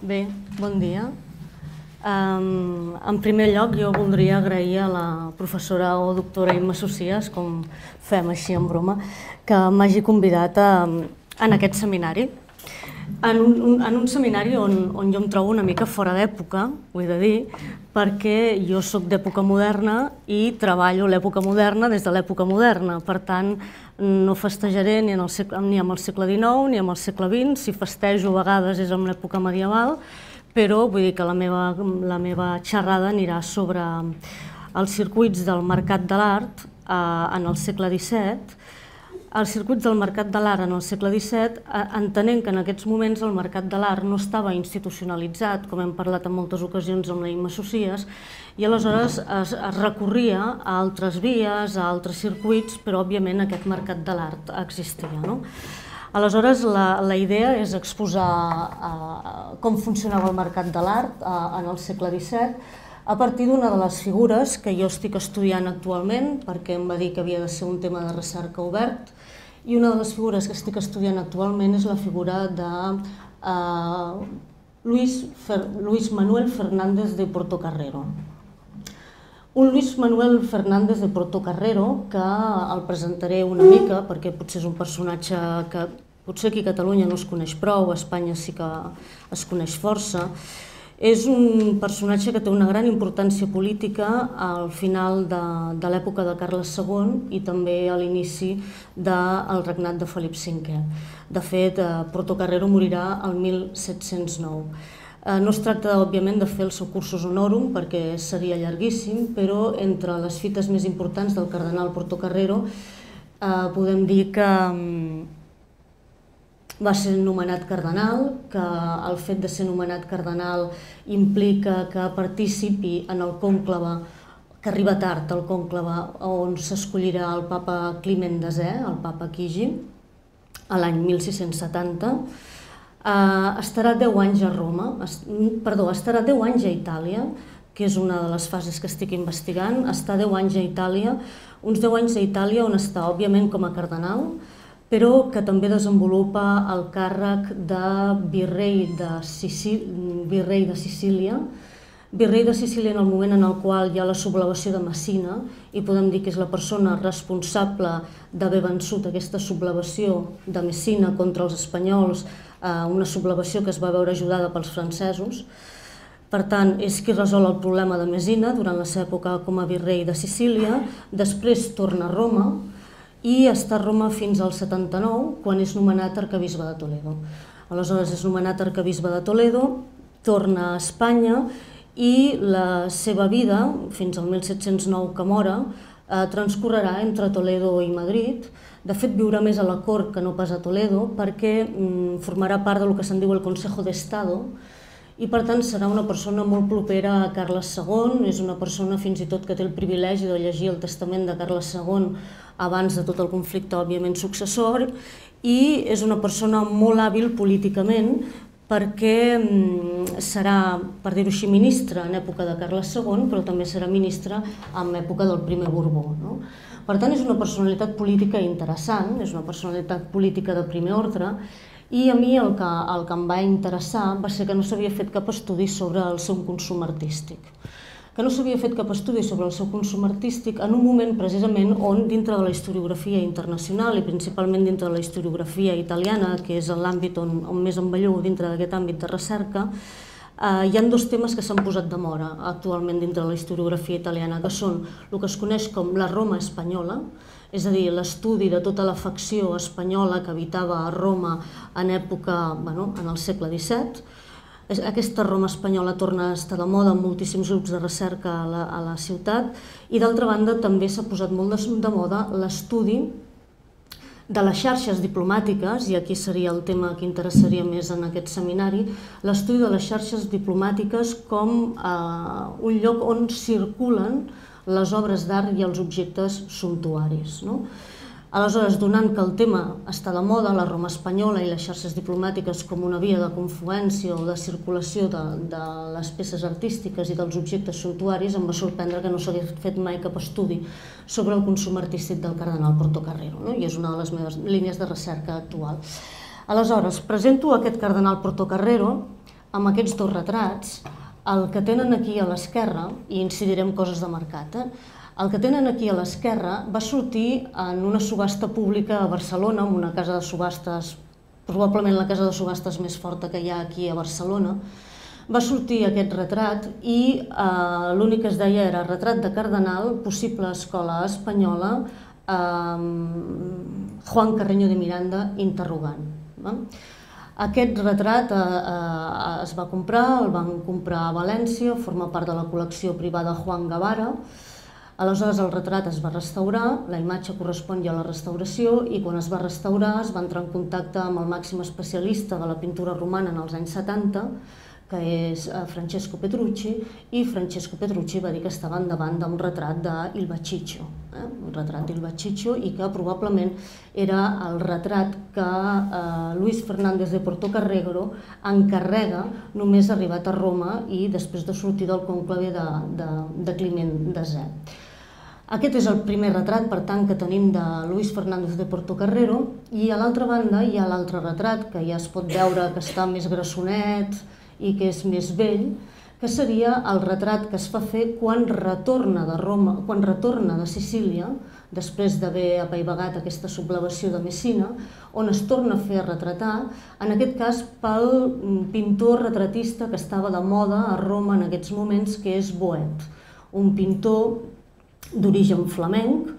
Bé, bon dia. En primer lloc, jo voldria agrair a la professora o doctora Imma Socias, com fem així en broma, que m'hagi convidat en aquest seminari. En un seminari on jo em trobo una mica fora d'època, ho he de dir, perquè jo soc d'època moderna i treballo l'època moderna des de l'època moderna. Per tant, no festejaré ni amb el segle XIX ni amb el segle XX. Si festejo a vegades és amb l'època medieval, però vull dir que la meva xerrada anirà sobre els circuits del mercat de l'art en el segle XVII. Els circuits del mercat de l'art en el segle XVII, entenent que en aquests moments el mercat de l'art no estava institucionalitzat, com hem parlat en moltes ocasions amb la Imma Socias, i aleshores es recorria a altres vies, a altres circuits, però òbviament aquest mercat de l'art existia. Aleshores, la idea és exposar com funcionava el mercat de l'art en el segle XVII a partir d'una de les figures que jo estic estudiant actualment, perquè em va dir que havia de ser un tema de recerca obert, i una de les figures que estic estudiant actualment és la figura de Luis Manuel Fernández de Portocarrero. Un Luis Manuel Fernández de Portocarrero que el presentaré una mica perquè potser és un personatge que potser aquí a Catalunya no es coneix prou, a Espanya sí que es coneix força. És un personatge que té una gran importància política al final de l'època de Carles II i també a l'inici del regnat de Felip V. De fet, Portocarrero morirà el 1709. No es tracta, òbviament, de fer el seu cursus honorum perquè seria llarguíssim, però entre les fites més importants del cardenal Portocarrero podem dir que va ser nomenat cardenal, que el fet de ser nomenat cardenal implica que participi en el cònclave, que arriba tard el cònclave on s'escollirà el papa Climent X, el papa Chigi, a l'any 1670. Estarà 10 anys a Roma, estarà 10 anys a Itàlia, que és una de les fases que estic investigant. Està 10 anys a Itàlia, uns 10 anys a Itàlia on està, òbviament, com a cardenal, però que també desenvolupa el càrrec de virrei de Sicília. Virrei de Sicília en el moment en el qual hi ha la sublevació de Messina, i podem dir que és la persona responsable d'haver vençut aquesta sublevació de Messina contra els espanyols, una sublevació que es va veure ajudada pels francesos. Per tant, és qui resol el problema de Messina durant la seva època com a virrei de Sicília. Després torna a Roma, i està a Roma fins al 79, quan és nomenat arquebisbe de Toledo. Aleshores és nomenat arquebisbe de Toledo, torna a Espanya i la seva vida, fins al 1709 que mora, transcorrerà entre Toledo i Madrid. De fet, viurà més a la cort que no pas a Toledo, perquè formarà part del que se'n diu el Consejo de Estado, i per tant serà una persona molt propera a Carles II, és una persona fins i tot que té el privilegi de llegir el testament de Carles II abans de tot el conflicte, òbviament, successor, i és una persona molt hàbil políticament perquè serà, per dir-ho així, ministre en època de Carles II, però també serà ministre en època del primer Borbó. Per tant, és una personalitat política interessant, és una personalitat política de primer ordre, i a mi el que em va interessar va ser que no s'havia fet cap estudi sobre el seu consum artístic. Que no s'havia fet cap estudi sobre el seu consum artístic en un moment precisament on dintre de la historiografia internacional i principalment dintre de la historiografia italiana, que és l'àmbit on més em bellugo dintre d'aquest àmbit de recerca, hi ha dos temes que s'han posat de moda actualment dintre de la historiografia italiana, que són el que es coneix com la Roma espanyola, és a dir, l'estudi de tota la facció espanyola que habitava a Roma en el segle XVII. Aquesta Roma espanyola torna a estar de moda en moltíssims grups de recerca a la ciutat, i d'altra banda també s'ha posat molt de moda l'estudi de les xarxes diplomàtiques, i aquí seria el tema que interessaria més en aquest seminari, l'estudi de les xarxes diplomàtiques com un lloc on circulen les obres d'art i els objectes sumptuaris. Aleshores, donant que el tema està de moda, la Roma espanyola i les xarxes diplomàtiques com una via de confluència o de circulació de les peces artístiques i dels objectes sumptuaris, em va sorprendre que no s'hagués fet mai cap estudi sobre el consum artístic del cardenal Portocarrero, i és una de les meves línies de recerca actual. Aleshores, presento aquest cardenal Portocarrero amb aquests dos retrats, el que tenen aquí a l'esquerra, i incidirem coses de mercat, el que tenen aquí a l'esquerra va sortir en una subhasta pública a Barcelona, en una casa de subhastes, probablement la casa de subhastes més forta que hi ha aquí a Barcelona. Va sortir aquest retrat i l'únic que es deia era retrat de cardenal, possible escola espanyola, Juan Carreño de Miranda, interrogant. Aquest retrat es va comprar, el van comprar a València, forma part de la col·lecció privada Juan Guevara. Aleshores el retrat es va restaurar, la imatge correspon ja a la restauració i quan es va restaurar es va entrar en contacte amb el màxim especialista de la pintura romana en els anys 70, que és Francesco Petrucci, i Francesco Petrucci va dir que estaven davant d'un retrat d'Il Baciccio, un retrat d'Il Baciccio, i que probablement era el retrat que Luis Fernández de Portocarrero encarrega només arribat a Roma i després de sortir del conclave de Climent X. Aquest és el primer retrat, per tant, que tenim de Luis Fernández de Portocarrero, i a l'altra banda hi ha l'altre retrat, que ja es pot veure que està més grassonet i que és més vell, que seria el retrat que es fa fer quan retorna de Roma, quan retorna de Sicília, després d'haver apaivagat aquesta sublevació de Messina, on es torna a fer retratar, en aquest cas pel pintor retratista que estava de moda a Roma en aquests moments, que és Boet, un pintor d'origen flamenc,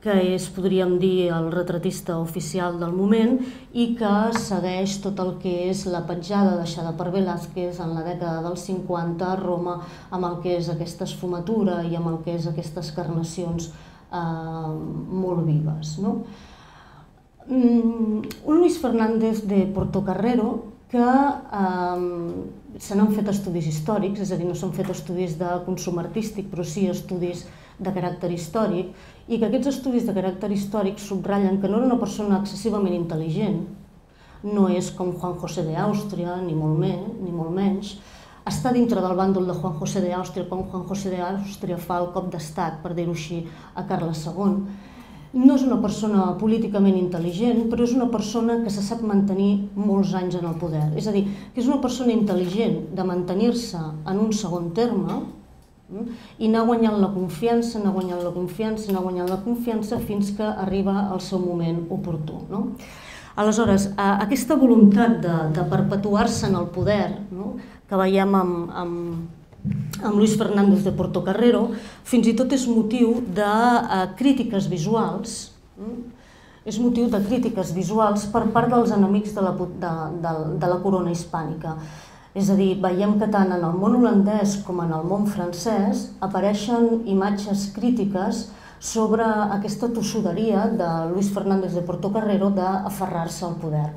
que és, podríem dir, el retratista oficial del moment i que segueix tot el que és la petjada deixada per Velázquez en la dècada dels 50 a Roma, amb el que és aquesta esfumatura i amb el que és aquestes carnacions molt vives. Un Luis Fernández de Portocarrero que se n'han fet estudis històrics, és a dir, no s'han fet estudis de consum artístic, però sí estudis de caràcter històric, i que aquests estudis de caràcter històric subratllen que no era una persona excessivament intel·ligent, no és com Juan José de Àustria, ni molt menys, està dintre del bàndol de Juan José de Àustria quan Juan José de Àustria fa el cop d'estat, per dir-ho així, a Carles II. No és una persona políticament intel·ligent, però és una persona que se sap mantenir molts anys en el poder. És a dir, que és una persona intel·ligent de mantenir-se en un segon terme i anar guanyant la confiança, anar guanyant la confiança fins que arriba el seu moment oportú. Aleshores, aquesta voluntat de perpetuar-se en el poder que veiem amb Luis Fernández de Portocarrero, fins i tot és motiu de crítiques visuals, per part dels enemics de la corona hispànica. És a dir, veiem que tant en el món holandès com en el món francès apareixen imatges crítiques sobre aquesta tossuderia de Luis Fernández de Portocarrero d'aferrar-se al poder.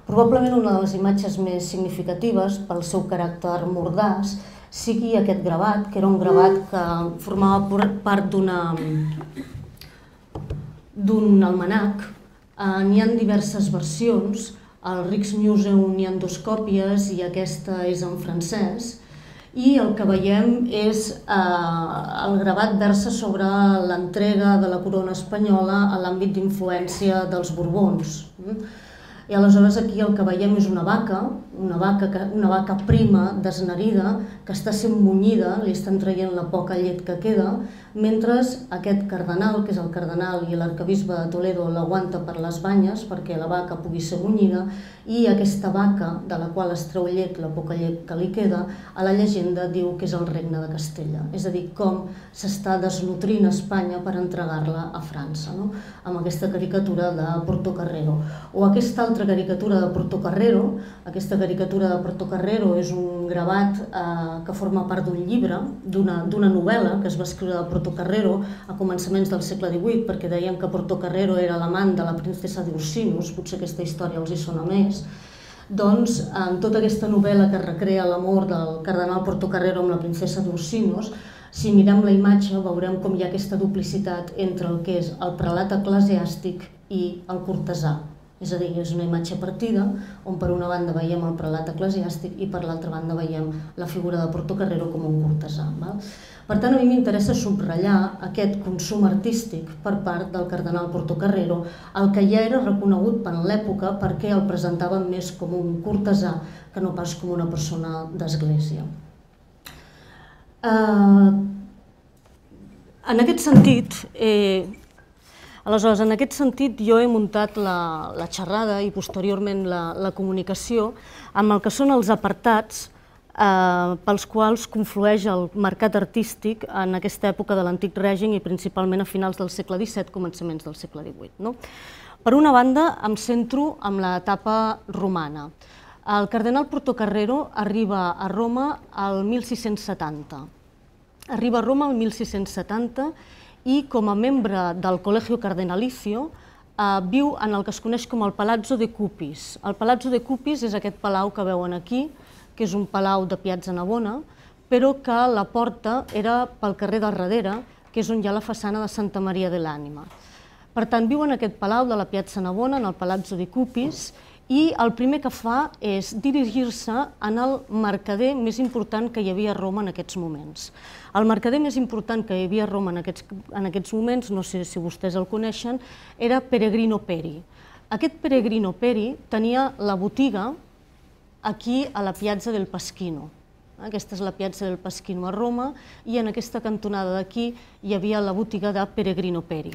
Probablement una de les imatges més significatives pel seu caràcter mordàs sigui aquest gravat, que era un gravat que formava part d'un almanac. N'hi ha diverses versions. Al Rijksmuseum n'hi ha 2 còpies i aquesta és en francès. I el que veiem és el gravat versa sobre l'entrega de la corona espanyola a l'àmbit d'influència dels Borbons. I aleshores aquí el que veiem és una vaca prima, desnarida, que està sent munyida, li estan traient la poca llet que queda, mentre aquest cardenal, que és el cardenal i l'arquebisbe de Toledo, l'aguanta per les banyes perquè la vaca pugui ser munyida, i aquesta vaca, de la qual es treu llet, la poca llet que li queda, a la llegenda diu que és el regne de Castella. És a dir, com s'està desnutrint Espanya per entregar-la a França, amb aquesta caricatura de Portocarrero. O aquesta altra caricatura de Portocarrero. Aquesta caricatura de Portocarrero és un gravat que forma part d'un llibre, d'una novel·la que es va escriure de Portocarrero a començaments del segle XVIII, perquè deien que Portocarrero era l'amant de la princesa d'Ursinus, potser aquesta història els hi sona més. Doncs, en tota aquesta novel·la que recrea l'amor del cardenal Portocarrero amb la princesa d'Ursinus, si mirem la imatge veurem com hi ha aquesta duplicitat entre el que és el prelat eclesiàstic i el cortesà. És a dir, és una imatge partida on per una banda veiem el prelat eclesiàstic i per l'altra banda veiem la figura de Portocarrero com un cortesà. Per tant, a mi m'interessa subratllar aquest consum artístic per part del cardenal Portocarrero, el que ja era reconegut per l'època perquè el presentaven més com un cortesà que no pas com una persona d'església. En aquest sentit, jo he muntat la xerrada i posteriorment la comunicació amb el que són els apartats pels quals conflueix el mercat artístic en aquesta època de l'antic règim i principalment a finals del segle XVII, començaments del segle XVIII. Per una banda, em centro en l'etapa romana. El cardenal Portocarrero arriba a Roma al 1670. Arriba a Roma el 1670 i com a membre del Collegio Cardenalicio viu en el que es coneix com el Palazzo de Cupis. El Palazzo de Cupis és aquest palau que veuen aquí, que és un palau de Piazza Navona, però que la porta era pel carrer del darrere, que és on hi ha la façana de Santa Maria de l'Ànima. Per tant, viu en aquest palau de la Piazza Navona, en el Palazzo de Cupis, i el primer que fa és dirigir-se en el mercader més important que hi havia a Roma en aquests moments. El mercader més important que hi havia a Roma en aquests moments, no sé si vostès el coneixen, era Peregrino Peri. Aquest Peregrino Peri tenia la botiga aquí a la Piazza del Pasquino. Aquesta és la Piazza del Pasquino a Roma i en aquesta cantonada d'aquí hi havia la botiga de Peregrino Peri.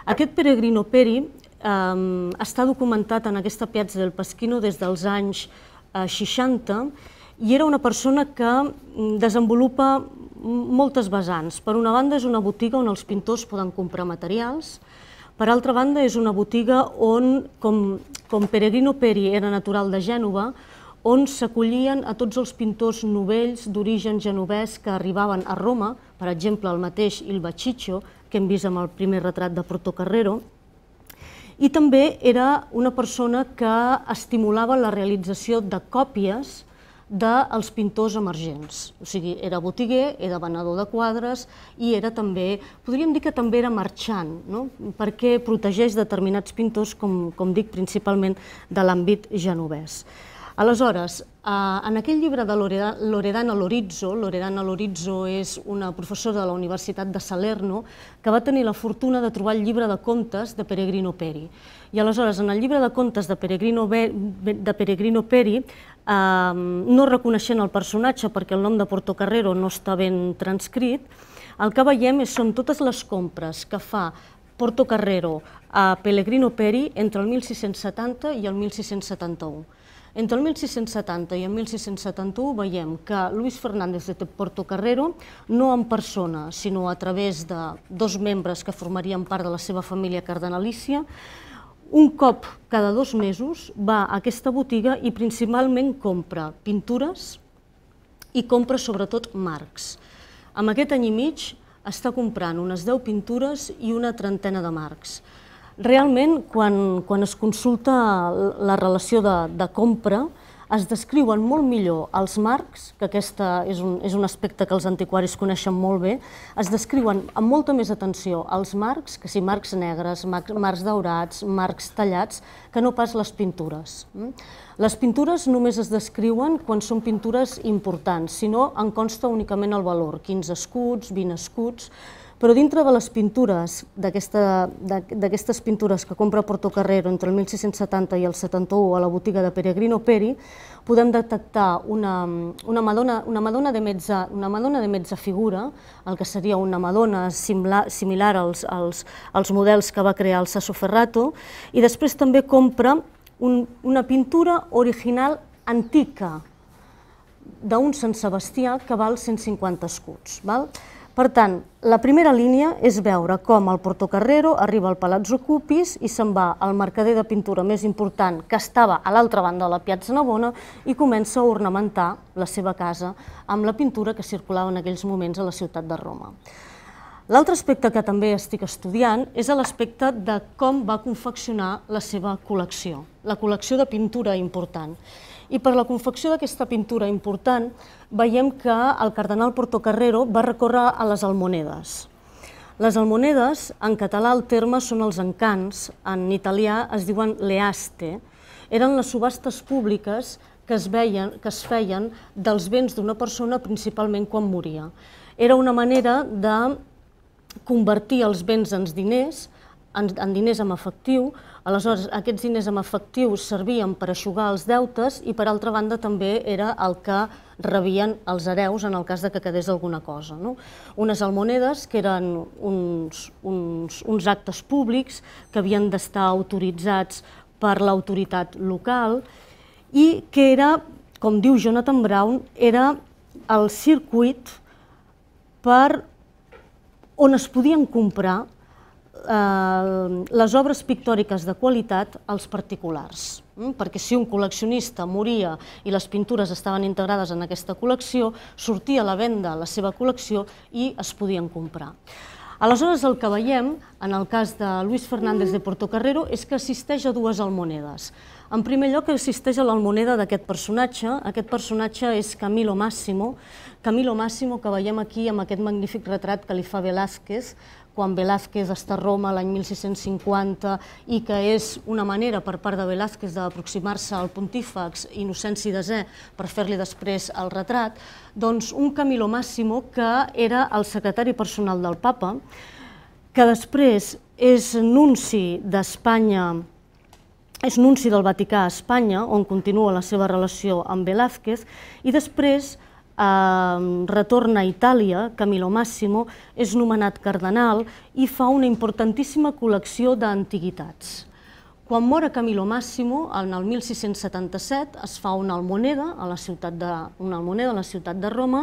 Aquest Peregrino Peri està documentat en aquesta Piazza del Pasquino des dels anys 60 i era una persona que desenvolupa moltes vessants. Per una banda és una botiga on els pintors poden comprar materials, per altra banda és una botiga on, com Peregrino Peri era natural de Gènova, on s'acollien a tots els pintors novells d'origen genovès que arribaven a Roma, per exemple el mateix Il Baciccio, que hem vist amb el primer retrat de Portocarrero, i també era una persona que estimulava la realització de còpies dels pintors emergents. O sigui, era botiguer, era venedor de quadres i era també, podríem dir que també era marxant, perquè protegeix determinats pintors, com dic, principalment de l'àmbit genovès. Aleshores, en aquell llibre de Loredana Lorizzo és una professora de la Universitat de Salerno que va tenir la fortuna de trobar el llibre de contes de Peregrino Peri. I aleshores, en el llibre de contes de Peregrino Peri, no reconeixent el personatge perquè el nom de Portocarrero no està ben transcrit, el que veiem són totes les compres que fa Portocarrero a Peregrino Peri entre el 1670 i el 1671. Entre el 1670 i el 1671 veiem que Luis Fernández de Portocarrero, no en persona, sinó a través de dos membres que formarien part de la seva família cardenalícia, un cop cada 2 mesos va a aquesta botiga i principalment compra pintures i compra sobretot marcs. En aquest any i mig està comprant unes 10 pintures i una trentena de marcs. Realment, quan es consulta la relació de compra, es descriuen molt millor els marcs, que aquest és un aspecte que els antiquaris coneixen molt bé, es descriuen amb molta més atenció els marcs, que si marcs negres, marcs daurats, marcs tallats, que no pas les pintures. Les pintures només es descriuen quan són pintures importants, si no en consta únicament el valor, 15 escuts, 20 escuts, però dintre de les pintures, d'aquestes pintures que compra Portocarrero entre el 1670 i el 71 a la botiga de Peregrino Peri, podem detectar una Madonna de mezza figura, el que seria una Madonna similar als models que va crear el Sassoferrato, i després també compra una pintura original antica d'un Sant Sebastià que val 150 escuts. Per tant, la primera línia és veure com el Portocarrero arriba al Palazzo Cupis i se'n va al mercader de pintura més important que estava a l'altra banda de la Piazza Navona i comença a ornamentar la seva casa amb la pintura que circulava en aquells moments a la ciutat de Roma. L'altre aspecte que també estic estudiant és l'aspecte de com va confeccionar la seva col·lecció, la col·lecció de pintura important. I per la confecció d'aquesta pintura important veiem que el cardenal Portocarrero va recórrer a les almonedes. Les almonedes, en català el terme són els encants, en italià es diuen le aste, eren les subhastes públiques que es feien dels béns d'una persona principalment quan moria. Era una manera de convertir els béns en diners en efectiu. Aleshores, aquests diners en efectiu servien per eixugar els deutes i, per altra banda, també era el que rebien els hereus en el cas que quedés alguna cosa. Unes almonedes que eren uns actes públics que havien d'estar autoritzats per l'autoritat local i que era, com diu Jonathan Brown, era el circuit on es podien comprar les obres pictòriques de qualitat als particulars. Perquè si un col·leccionista moria i les pintures estaven integrades en aquesta col·lecció, sortia a la venda la seva col·lecció i es podien comprar. Aleshores, el que veiem, en el cas de Luis Fernández de Portocarrero, és que assisteix a dues almonedes. En primer lloc, assisteix a l'almoneda d'aquest personatge. Aquest personatge és Camilo Máximo. Camilo Máximo, que veiem aquí amb aquest magnífic retrat que li fa Velázquez, quan Velázquez està a Roma l'any 1650 i que és una manera per part de Velázquez d'aproximar-se al pontífex Innocenci X per fer-li després el retrat, doncs un Camilo Máximo que era el secretari personal del papa, que després és nunci d'Espanya, és nunci del Vaticà a Espanya, on continua la seva relació amb Velázquez, i després retorna a Itàlia. Camilo Máximo és nomenat cardenal i fa una importantíssima col·lecció d'antiguitats. Quan mor Camilo Máximo, en el 1677, es fa una almoneda a la ciutat de Roma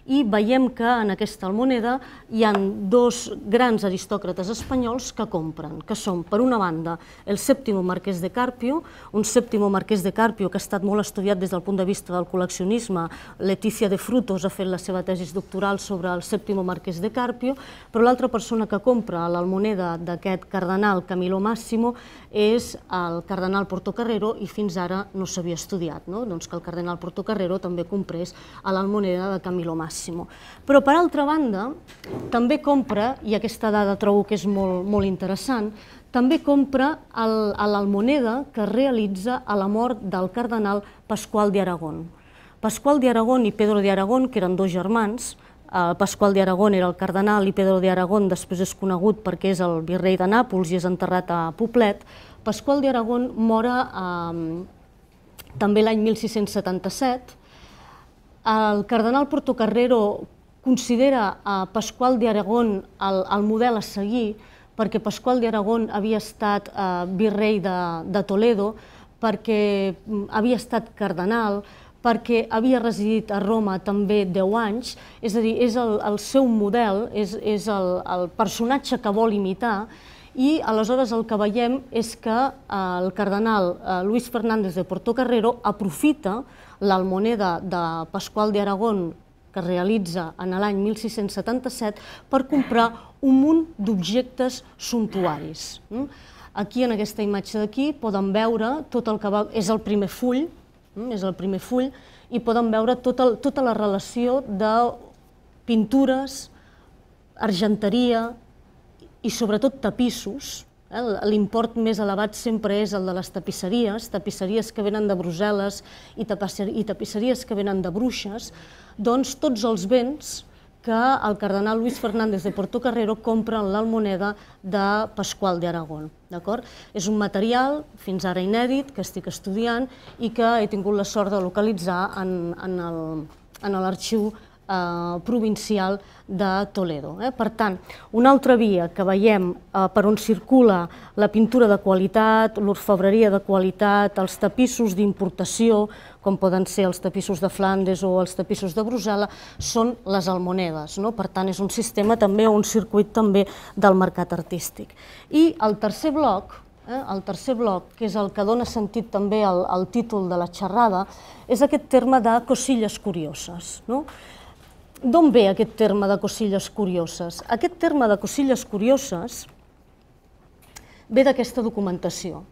i veiem que en aquesta almoneda hi ha dos grans aristòcrates espanyols que compren, que són, per una banda, el Séptimo Marquès de Carpio, un Séptimo Marquès de Carpio que ha estat molt estudiat des del punt de vista del col·leccionisme. Leticia de Frutos ha fet la seva tesi doctoral sobre el Séptimo Marquès de Carpio, però l'altra persona que compra l'almoneda d'aquest cardenal Camilo Máximo és el cardenal Portocarrero, i fins ara no s'havia estudiat, que el cardenal Portocarrero també comprés l'almoneda de Camilo Máximo. Però, per altra banda, també compra, i aquesta dada trobo que és molt interessant, també compra l'almoneda que realitza a la mort del cardenal Pasqual de Aragón. Pasqual de Aragón i Pedro de Aragón, que eren dos germans, Pasqual de Aragón era el cardenal i Pedro de Aragón després és conegut perquè és el virrei de Nàpols i és enterrat a Poblet. Pasqual de Aragón mor també l'any 1677. El cardenal Portocarrero considera a Pasqual de Aragón el model a seguir perquè Pasqual de Aragón havia estat virrei de Toledo, perquè havia estat cardenal, perquè havia residit a Roma també 10 anys, és a dir, és el seu model, és el personatge que vol imitar, i aleshores el que veiem és que el cardenal Luis Fernández de Portocarrero aprofita l'almoneda de Pasqual de Aragón que realitza en l'any 1677 per comprar un munt d'objectes sumptuaris. Aquí, en aquesta imatge d'aquí, poden veure tot el que va... És el primer full, i poden veure tota la relació de pintures, argenteria i sobretot tapissos. L'import més elevat sempre és el de les tapisseries que venen de Brussel·les i tapisseries que venen de Bruixes, doncs tots els béns que el cardenal Luis Fernández de Portocarrero compra en l'almoneda de Pasqual de Aragón. És un material fins ara inèdit que estic estudiant i que he tingut la sort de localitzar en l'arxiu provincial de Toledo. Per tant, una altra via que veiem per on circula la pintura de qualitat, l'orfebreria de qualitat, els tapissos d'importació, com poden ser els tapissos de Flandes o els tapissos de Brussel·les, són les almonedes. Per tant, és un sistema també, un circuit també del mercat artístic. I el tercer bloc, que és el que dona sentit també al títol de la xerrada, és aquest terme de cosillas curioses. D'on ve aquest terme de cosillas curioses? Aquest terme de cosillas curioses ve d'aquesta documentació.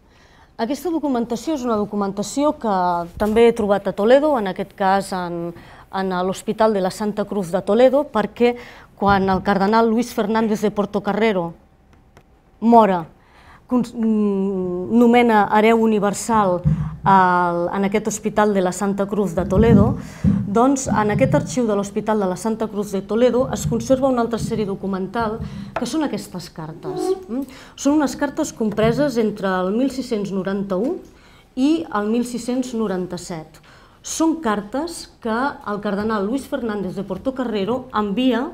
Aquesta documentació és una documentació que també he trobat a Toledo, en aquest cas en en l'Hospital de la Santa Cruz de Toledo, perquè quan el cardenal Luis Fernández de Portocarrero mora, nomena hereu universal en aquest Hospital de la Santa Cruz de Toledo, doncs en aquest arxiu de l'Hospital de la Santa Cruz de Toledo es conserva una altra sèrie documental que són aquestes cartes. Són unes cartes compreses entre el 1691 i el 1697. Són cartes que el cardenal Luis Fernández de Portocarrero envia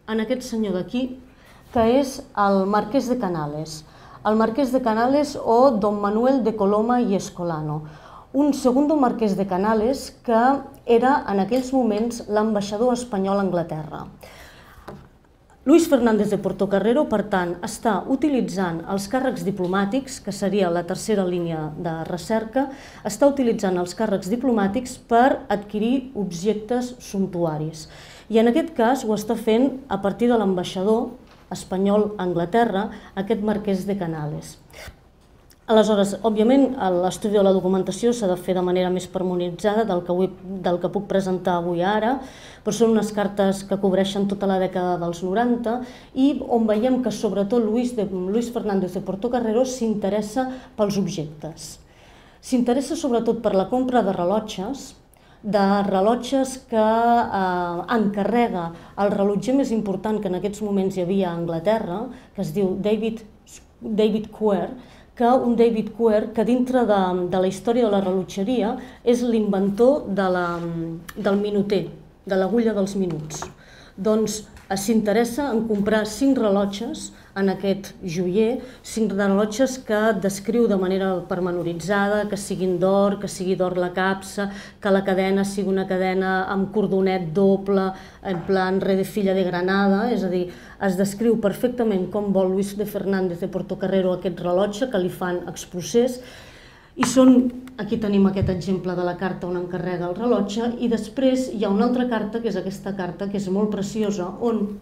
a aquest senyor d'aquí, que és el Marquès de Canales. El Marquès de Canales o Don Manuel de Coloma i Escolano, un segundo Marquès de Canales que era en aquells moments l'ambaixador espanyol a Anglaterra. Luis Fernández de Portocarrero, per tant, està utilitzant els càrrecs diplomàtics, que seria la tercera línia de recerca, està utilitzant els càrrecs diplomàtics per adquirir objectes sumptuaris. I en aquest cas ho està fent a partir de l'ambaixador espanyol a Anglaterra, aquest Marquès de Canales. Aleshores, òbviament, l'estudi de la documentació s'ha de fer de manera més pormenoritzada del que puc presentar avui ara, però són unes cartes que cobreixen tota la dècada dels 90 i on veiem que sobretot Luis Fernández de Portocarrero s'interessa pels objectes. S'interessa sobretot per la compra de rellotges que encarrega el rellotger més important que en aquests moments hi havia a Anglaterra, que es diu David Quer, que dintre de la història de la rellotgeria és l'inventor del minuter, de l'agulla dels minuts. Doncs s'interessa en comprar 5 rellotges en aquest joier, 5 rellotges que descriu de manera pormenoritzada, que siguin d'or, que sigui d'or la capsa, que la cadena sigui una cadena amb cordonet doble, en plan re de filla de Granada, és a dir, es descriu perfectament com vol Luis de Fernández de Portocarrero aquest rellotge, que li fan exprocés, i aquí tenim aquest exemple de la carta on encarrega el rellotge, i després hi ha una altra carta, que és aquesta carta, que és molt preciosa, on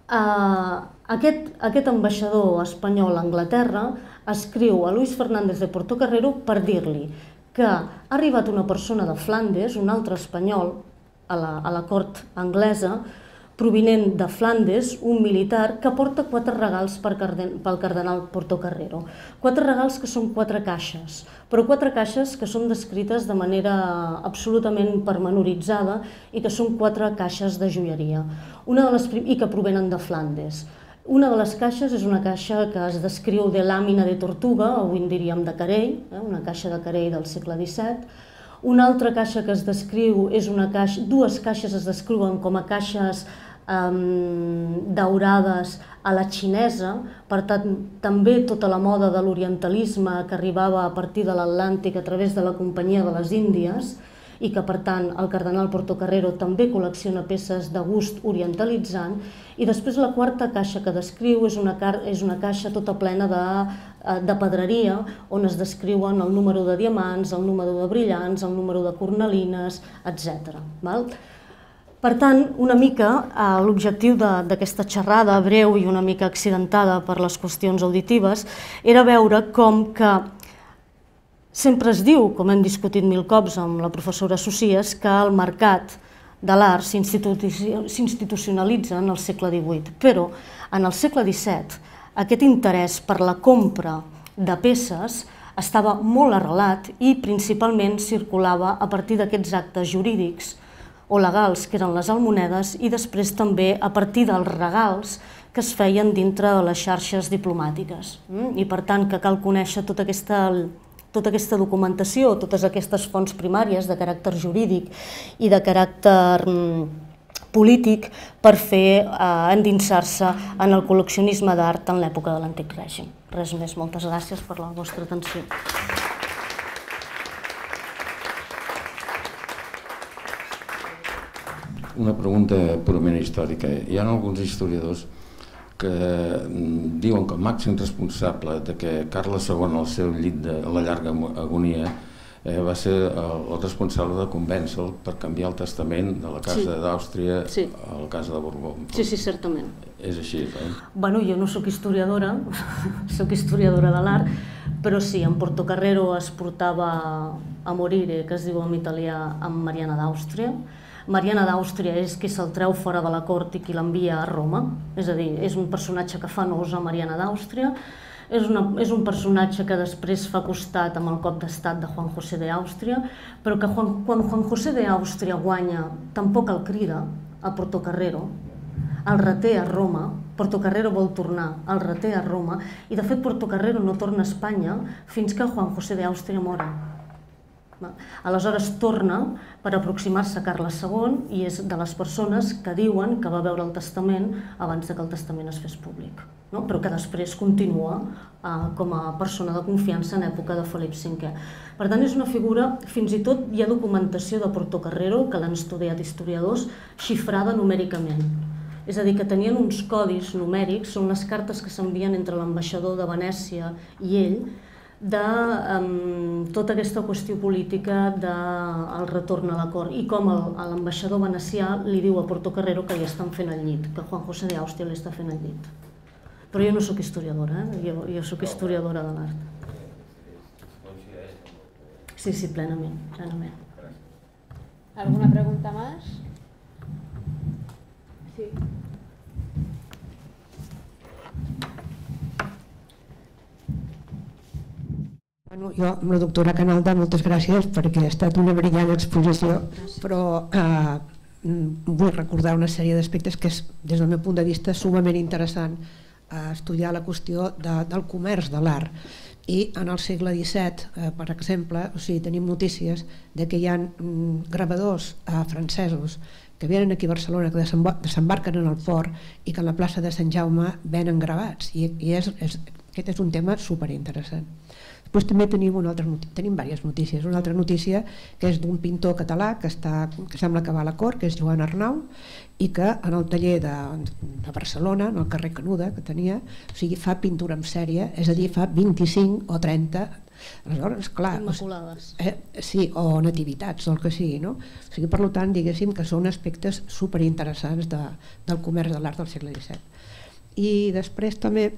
aquest ambaixador espanyol a Anglaterra escriu a Luis Fernández de Portocarrero per dir-li que ha arribat una persona de Flandes, un altre espanyol, a la cort anglesa, provinent de Flandes, un militar, que porta 4 regals pel cardenal Portocarrero. 4 regals que són 4 caixes, però 4 caixes que són descrites de manera absolutament pormenoritzada i que són 4 caixes de joieria, i que provenen de Flandes. Una de les caixes és una caixa que es descriu de làmina de tortuga, avui en diríem de carell, una caixa de carell del segle XVII. Una altra caixa que es descriu és dues caixes es descriuen com a caixes daurades a la xinesa, per tant, també tota la moda de l'orientalisme que arribava a partir de l'Atlàntic a través de la Companyia de les Índies i que, per tant, el cardenal Portocarrero també col·lecciona peces de gust orientalitzant. I després la quarta caixa que descriu és una caixa tota plena de pedreria, on es descriuen el número de diamants, el número de brillants, el número de cornalines, etc. Per tant, una mica l'objectiu d'aquesta xerrada breu i una mica accidentada per les qüestions auditives era veure com que sempre es diu, com hem discutit 1000 cops amb la professora Socias, que el mercat de l'art s'institucionalitza en el segle XVIII, però en el segle XVII aquest interès per la compra de peces estava molt arrelat i principalment circulava a partir d'aquests actes jurídics o legals, que eren les almonedes, i després també a partir dels regals que es feien dintre de les xarxes diplomàtiques. I per tant que cal conèixer tota aquesta documentació, totes aquestes fonts primàries de caràcter jurídic i de caràcter polític per fer endinsar-se en el col·leccionisme d'art en l'època de l'Antic Règim. Res més, moltes gràcies per la vostra atenció. Una pregunta purament històrica. Hi ha alguns historiadors que diuen que el màxim responsable de que Carles II, al seu llit de la llarga agonia, va ser el responsable de convèncer-lo per canviar el testament de la Casa d'Àustria a la Casa de Borbó. Sí, certament. És així, Bueno, jo no sóc historiadora, sóc historiadora de l'art, però sí, en Portocarrero es portava a morire, que es diu en italià, amb Mariana d'Àustria. Mariana d'Àustria és qui se'l treu fora de la cort i qui l'envia a Roma, és a dir, és un personatge que fa nosa Mariana d'Àustria, és un personatge que després fa costat amb el cop d'estat de Juan José d'Àustria, però que quan Juan José d'Àustria guanya tampoc el crida a Portocarrero, el reté a Roma. Portocarrero vol tornar, el reté a Roma, i de fet Portocarrero no torna a Espanya fins que Juan José d'Àustria mora. Aleshores torna per aproximar-se a Carles II i és de les persones que diuen que va veure el testament abans que el testament es fes públic, però que després continua com a persona de confiança en època de Felip V. Per tant, és una figura, fins i tot hi ha documentació de Portocarrero, que l'han estudiat historiadors, xifrada numèricament. És a dir, que tenien uns codis numèrics, són les cartes que s'envien entre l'ambaixador de Venècia i ell, de tota aquesta qüestió política del retorn a la cort i com l'ambaixador venecià li diu a Portocarrero que li estan fent el llit, que Juan José d'Àustria li està fent el llit. Però jo no sóc historiadora, jo sóc historiadora de l'art. Sí, plenament, plenament. ¿Alguna pregunta más? Sí. Jo, amb la doctora Canalda, moltes gràcies perquè ha estat una brillant exposició, però vull recordar una sèrie d'aspectes que és, des del meu punt de vista, sumament interessant estudiar la qüestió del comerç de l'art. I en el segle XVII, per exemple, tenim notícies que hi ha gravadors francesos que venen aquí a Barcelona, que desembarquen en el port i que en la plaça de Sant Jaume venen gravats. I aquest és un tema superinteressant. Després també tenim diverses notícies. Una altra notícia que és d'un pintor català que sembla que va a la cort, que és Joan Arnau, i que en el taller de Barcelona, en el carrer Canuda, que tenia, fa pintura en sèrie, és a dir, fa 25 o 30, aleshores, clar, immaculades. Sí, o nativitats, o el que sigui, no? Per tant, diguéssim que són aspectes superinteressants del comerç de l'art del segle XVII. I després també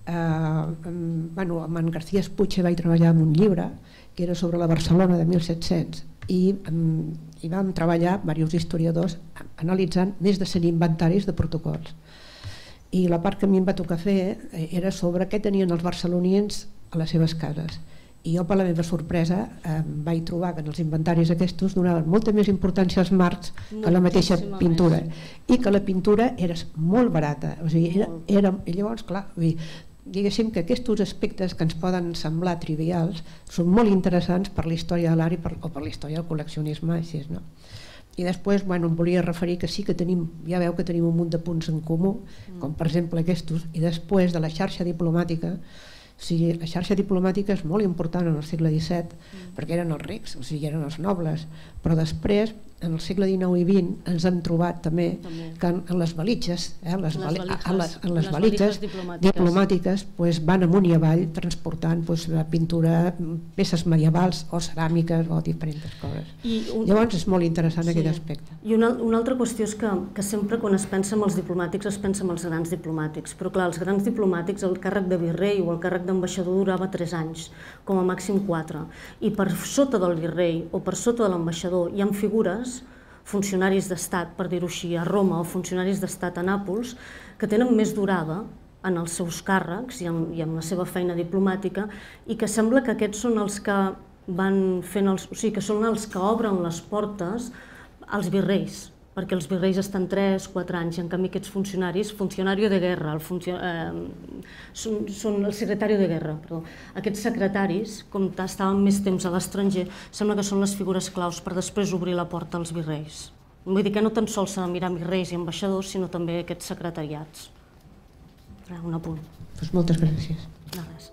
amb en García Espuche vaig treballar en un llibre que era sobre la Barcelona de 1700 i vam treballar diversos historiadors analitzant més de 100 inventaris de protocols, i la part que a mi em va tocar fer era sobre què tenien els barcelonians a les seves cases, i jo, per la meva sorpresa, vaig trobar que en els inventaris aquests donaven molta més importància als marcs que a la mateixa pintura, i que la pintura era molt barata. Llavors, clar, diguéssim que aquests aspectes que ens poden semblar trivials són molt interessants per la història de l'art o per la història del col·leccionisme. I després em volia referir que sí que ja veu que tenim un munt de punts en comú, com per exemple aquests, i després de la xarxa diplomàtica. La xarxa diplomàtica és molt important en el segle XVII perquè eren els rics, eren els nobles, però després, en el segle XIX i XX, ens hem trobat també que en les valitges, les valitges diplomàtiques van amunt i avall transportant pintura, peces medievals o ceràmiques o diferents coses. Llavors és molt interessant aquest aspecte. I una altra qüestió és que sempre quan es pensa en els diplomàtics es pensa en els grans diplomàtics, però clar, els grans diplomàtics, el càrrec de virrei o el càrrec d'ambaixador durava 3 anys, com a màxim 4, i per sota del virrei o per sota de l'ambaixador hi ha figures, funcionaris d'estat, per dir-ho així, a Roma, o funcionaris d'estat a Nàpols, que tenen més durada en els seus càrrecs i en la seva feina diplomàtica, i que sembla que aquests són els que van fent, que són els que obren les portes als virreis, perquè els virreis estan 3-4 anys, i en canvi aquests funcionaris, funcionari de guerra, són el secretari de guerra, aquests secretaris, com estaven més temps a l'estranger, sembla que són les figures claus per després obrir la porta als virreis. Vull dir que no tan sols s'ha de mirar virreis i ambaixadors, sinó també aquests secretariats. Un apunt. Moltes gràcies. De res.